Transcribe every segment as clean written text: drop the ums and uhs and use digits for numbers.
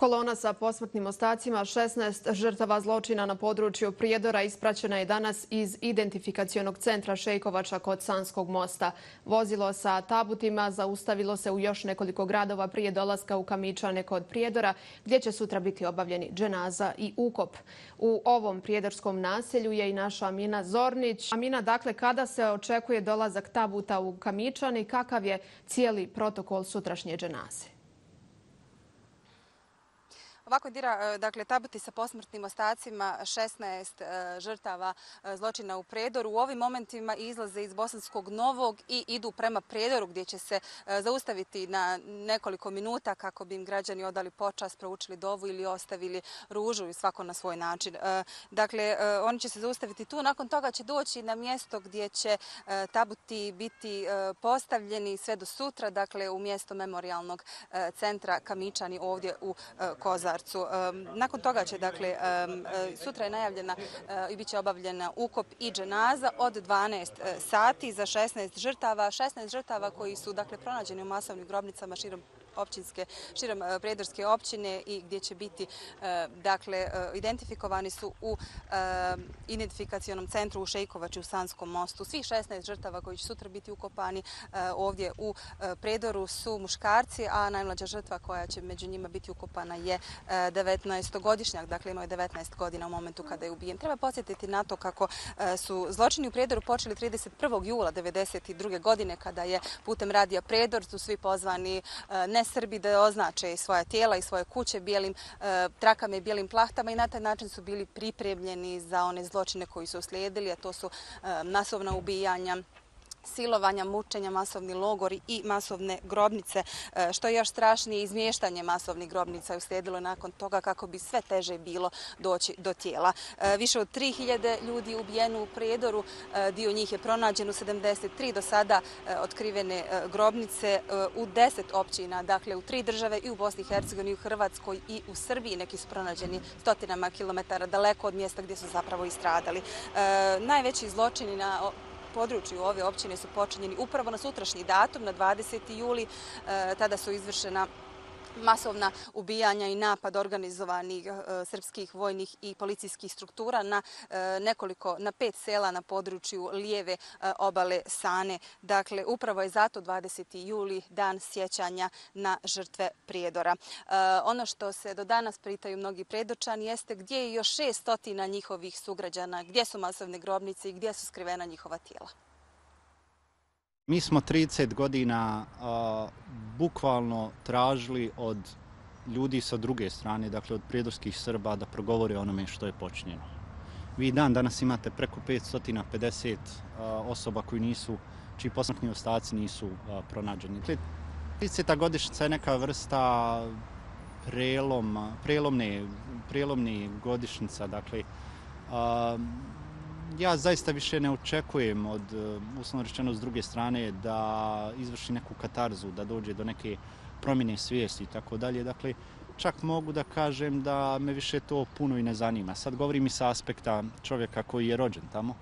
Kolona sa posmrtnim ostacima 16 žrtava zločina na području Prijedora ispraćena je danas iz identifikacionog centra Šejkovača kod Sanskog mosta. Vozilo sa tabutima zaustavilo se u još nekoliko gradova prije dolaska u Kamičane kod Prijedora, gdje će sutra biti obavljeni dženaza i ukop. U ovom prijedorskom naselju je i naša Amina Zornić. Amina, dakle, kada se očekuje dolazak tabuta u Kamičane i kakav je cijeli protokol sutrašnje dženaze? Ovako, Dira, dakle, tabuti sa posmrtnim ostacima 16 žrtava zločina u Prijedoru u ovim momentima izlaze iz Bosanskog Novog i idu prema Prijedoru, gdje će se zaustaviti na nekoliko minuta kako bi im građani odali počast, proučili dovu ili ostavili ružu i svako na svoj način. Dakle, oni će se zaustaviti tu. Nakon toga će doći na mjesto gdje će tabuti biti postavljeni sve do sutra, dakle, u mjesto memorijalnog centra Kamičani ovdje u Kozarcu. Nakon toga će, dakle, sutra je najavljena i bit će obavljena ukop i dženaza od 12 sati za 16 žrtava. 16 žrtava koji su, dakle, pronađeni u masovnim grobnicama širom Prijedorske općine i gdje će biti, dakle, identifikovani su u identifikacionom centru u Šejkovači u Sanskom mostu. Svih 16 žrtava koji će sutra biti ukopani ovdje u Prijedoru su muškarci, a najmlađa žrtva koja će među njima biti ukopana je 19-godišnjak, dakle imao je 19 godina u momentu kada je ubijen. Treba podsjetiti na to kako su zločini u Prijedoru počeli 31. jula 1992. godine kada je putem radija Prijedor su svi pozvani ne Srbi da označe svoja tijela i svoje kuće bijelim trakama i bijelim plahtama i na taj način su bili pripremljeni za one zločine koji su uslijedili, a to su masovna ubijanja, silovanja, mučenja, masovni logori i masovne grobnice. Što je još strašnije, izmještanje masovnih grobnica je uslijedilo nakon toga kako bi sve teže bilo doći do tijela. Više od 3000 ljudi ubijeno u Prijedoru, dio njih je pronađen u 73 do sada otkrivene grobnice u 10 općina, dakle u 3 države i u Bosni i Hercegovini, i u Hrvatskoj i u Srbiji. Neki su pronađeni stotinama kilometara daleko od mjesta gdje su zapravo i stradali. Najveći zločini na području ove općine su počinjeni upravo na sutrašnji datum, na 20. juli. Tada su izvršena masovna ubijanja i napad organizovanih srpskih vojnih i policijskih struktura na 5 sela na području lijeve obale Sane. Dakle, upravo je zato 20. juli dan sjećanja na žrtve Prijedora. Ono što se do danas pitaju mnogi Prijedorčani jeste gdje je još 600 njihovih sugrađana, gdje su masovne grobnice i gdje su skrivena njihova tijela. Mi smo 30 godina bukvalno tražili od ljudi sa druge strane, dakle od prijedorskih Srba, da progovore o onome što je počinjeno. Vi danas imate preko 550 osoba čiji posmrtni ostaci nisu pronađeni. 30. godišnjica je neka vrsta prelomne godišnjica, dakle, ja zaista više ne očekujem od, uslovno rečeno s druge strane, da izvrši neku katarzu, da dođe do neke promjene svijesti i tako dalje. Dakle, čak mogu da kažem da me više to puno i ne zanima. Sad govorim i sa aspekta čovjeka koji je rođen tamo.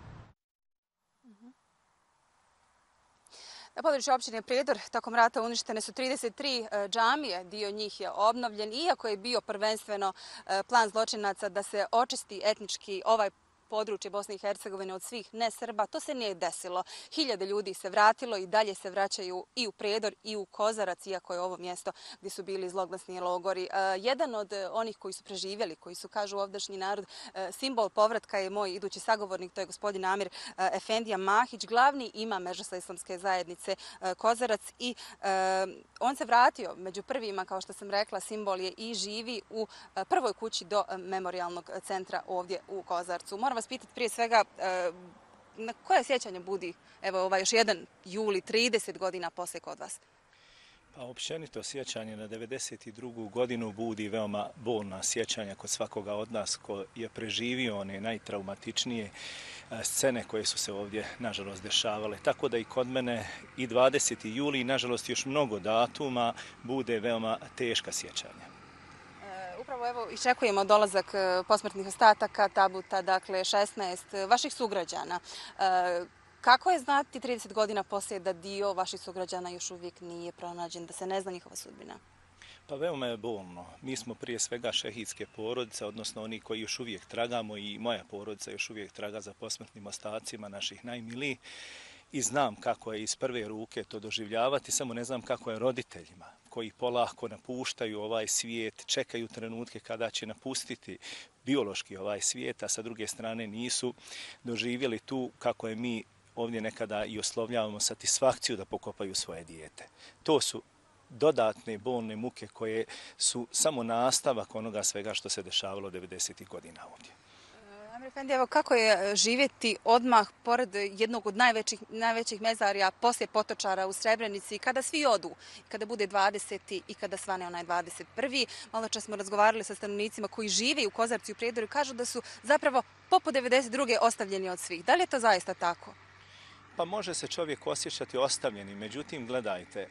Na području općine Prijedor tokom rata uništene su 33 džamije, dio njih je obnovljen, iako je bio prvenstveno plan zločinaca da se očisti etnički ovaj područje Bosne i Hercegovine od svih ne-Srba. To se nije desilo. 1000 ljudi se vratilo i dalje se vraćaju i u Prijedor i u Kozarac, iako je ovo mjesto gdje su bili zloglasni logori. Jedan od onih koji su preživjeli, koji su, kažu ovdašnji narod, simbol povratka je moj idući sagovornik, to je gospodin Amir Efendija Mahić, glavni imam Međusa islamske zajednice Kozarac i on se vratio među prvima, kao što sam rekla, simbol je i živi u prvoj kući do memorijalnog centra ovdje u Kozarcu. Moram vas pitati prije svega na koje sjećanje budi ovaj još jedan juli, 30 godina poslije kod vas? Pa općenito sjećanje na 92. godinu budi veoma bolna sjećanja kod svakoga od nas ko je preživio one najtraumatičnije scene koje su se ovdje nažalost dešavale. Tako da i kod mene i 20. juli, nažalost još mnogo datuma, bude veoma teška sjećanja. Upravo evo iščekujemo dolazak posmrtnih ostataka tabuta, dakle 16 vaših sugrađana. Kako je znati 30 godina poslije da dio vaših sugrađana još uvijek nije pronađen, da se ne zna njihova sudbina? Pa veoma je bolno. Mi smo prije svega šehidske porodice, odnosno oni koji još uvijek tragamo i moja porodica još uvijek traga za posmrtnim ostacima naših najmilijih i znam kako je iz prve ruke to doživljavati, samo ne znam kako je roditeljima koji polako napuštaju ovaj svijet, čekaju trenutke kada će napustiti biološki ovaj svijet, a sa druge strane nisu doživjeli tu kako je mi ovdje nekada i oslovljavamo satisfakciju da pokopaju svoje dijete. To su dodatne bolne muke koje su samo nastavak onoga svega što se dešavalo 90. godina ovdje. Amir Efendi, evo kako je živjeti odmah pored jednog od najvećih mezarja poslije Potočara u Srebrenici, kada svi odu, kada bude 20. i kada svane onaj 21. Malo čas smo razgovarali sa stanovnicima koji žive u Kozarcu i u Prijedoru i kažu da su zapravo poput 92. ostavljeni od svih. Da li je to zaista tako? Pa može se čovjek osjećati ostavljeni, međutim, gledajte,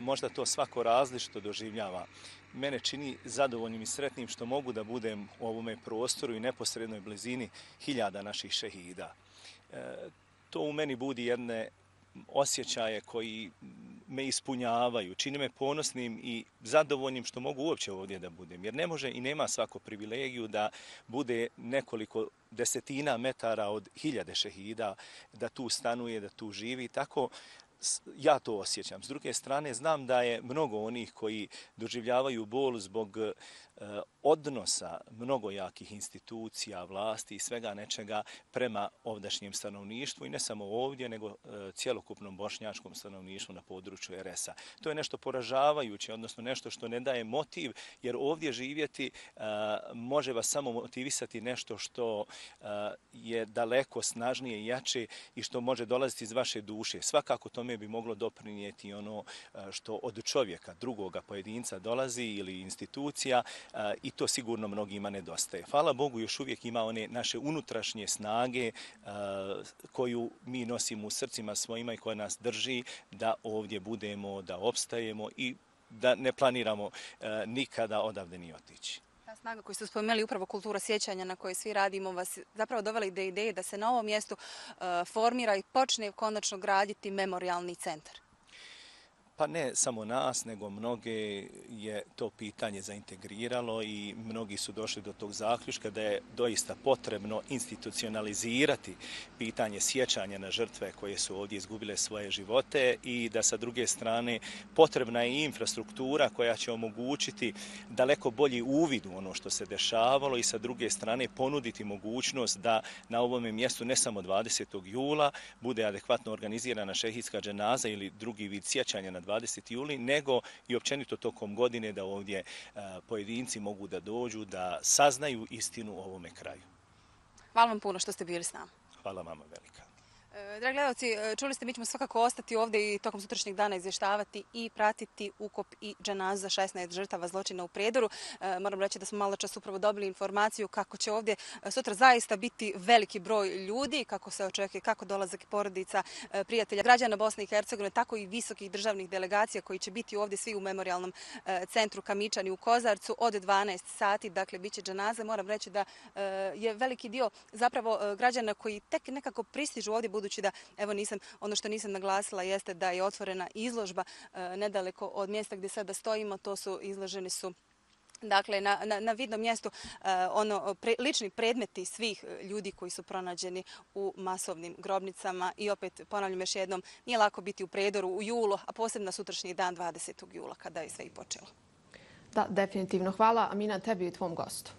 možda to svako različito doživljava. Mene čini zadovoljnim i sretnim što mogu da budem u ovome prostoru i neposrednoj blizini hiljada naših šehida. To u meni budi jedne osjećaje koji me ispunjavaju, čini me ponosnim i zadovoljnim što mogu uopće ovdje da budem. Jer ne može i nema svako privilegiju da bude nekoliko desetina metara od hiljade šehida, da tu stanuje, da tu živi. Tako ja to osjećam. S druge strane, znam da je mnogo onih koji doživljavaju bol zbog odnosa mnogo jakih institucija, vlasti i svega nečega prema ovdašnjem stanovništvu i ne samo ovdje, nego cjelokupnom bošnjačkom stanovništvu na području RS-a. To je nešto poražavajuće, odnosno nešto što ne daje motiv, jer ovdje živjeti može vas samo motivisati nešto što je daleko snažnije i jače i što može dolaziti iz vaše duše. Svakako tome bi moglo doprinijeti ono što od čovjeka, drugoga pojedinca dolazi ili institucija, i to sigurno mnogima nedostaje. Hvala Bogu, još uvijek ima one naše unutrašnje snage koju mi nosimo u srcima svojima i koja nas drži da ovdje budemo, da opstajemo i da ne planiramo nikada odavde ni otići. Ta snaga koju ste spomenuli, upravo kultura sjećanja na kojoj svi radimo, vas zapravo dovela do ideje da se na ovom mjestu formira i počne konačno graditi memorijalni centar. Pa ne samo nas, nego mnoge je to pitanje zaintegriralo i mnogi su došli do tog zaključka da je doista potrebno institucionalizirati pitanje sjećanja na žrtve koje su ovdje izgubile svoje živote i da sa druge strane potrebna je i infrastruktura koja će omogućiti daleko bolji uvid u ono što se dešavalo i sa druge strane ponuditi mogućnost da na ovome mjestu ne samo 20. jula bude adekvatno organizirana šehidska dženaza ili drugi vid sjećanja na 20. juli, nego i općenito tokom godine da ovdje pojedinci mogu da dođu, da saznaju istinu o ovome kraju. Hvala vam puno što ste bili s nama. Hvala vama velika. Dragi gledalci, čuli ste, mi ćemo svakako ostati ovdje i tokom sutrašnjeg dana izvještavati i pratiti ukop i dženazu za 16 žrtava zločina u Prijedoru. Moram reći da smo malo čas upravo dobili informaciju kako će ovdje sutra zaista biti veliki broj ljudi, kako se očekuje, kako dolazak porodica, prijatelja, građana Bosne i Hercegovine, tako i visokih državnih delegacija koji će biti ovdje svi u memorijalnom centru Kamičani u Kozarcu od 12 sati, dakle bit će dženaza. Moram reći da je veliki dio zapravo građana koji tek nekako pristižu ovdje, budući da, evo ono što nisam naglasila jeste da je otvorena izložba nedaleko od mjesta gdje sada stojimo, to su izloženi su dakle, na vidnom mjestu lični predmeti svih ljudi koji su pronađeni u masovnim grobnicama i opet ponavljam još jednom, nije lako biti u Prijedoru u julu, a posebno sutrašnji dan 20. jula kada je sve i počelo. Da, definitivno. Hvala, Amina, tebi i tvom gostu.